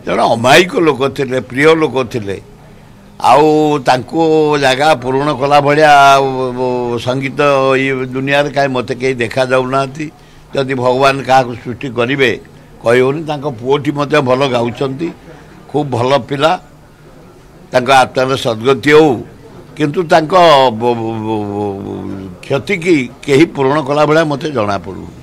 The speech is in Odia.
ଜଣେ ଅମାୟିକ ଲୋକ ଥିଲେ, ପ୍ରିୟ ଲୋକ ଥିଲେ। ଆଉ ତାଙ୍କୁ ଜାଗା ପୂରଣ କଲା ଭଳିଆ ସଙ୍ଗୀତ ଇଏ ଦୁନିଆରେ କାହିଁ ମୋତେ କେହି ଦେଖାଯାଉନାହାନ୍ତି। ଯଦି ଭଗବାନ କାହାକୁ ସୃଷ୍ଟି କରିବେ କହିହେଉନି। ତାଙ୍କ ପୁଅଟି ମଧ୍ୟ ଭଲ ଗାଉଛନ୍ତି, ଖୁବ୍ ଭଲ ପିଲା। ତାଙ୍କ ଆତ୍ମାର ସଦ୍ଗତି ହେଉ, କିନ୍ତୁ ତାଙ୍କ କ୍ଷତିକି କେହି ପୂରଣ କଲା ଭଳିଆ ମୋତେ ଜଣାପଡ଼ୁନି।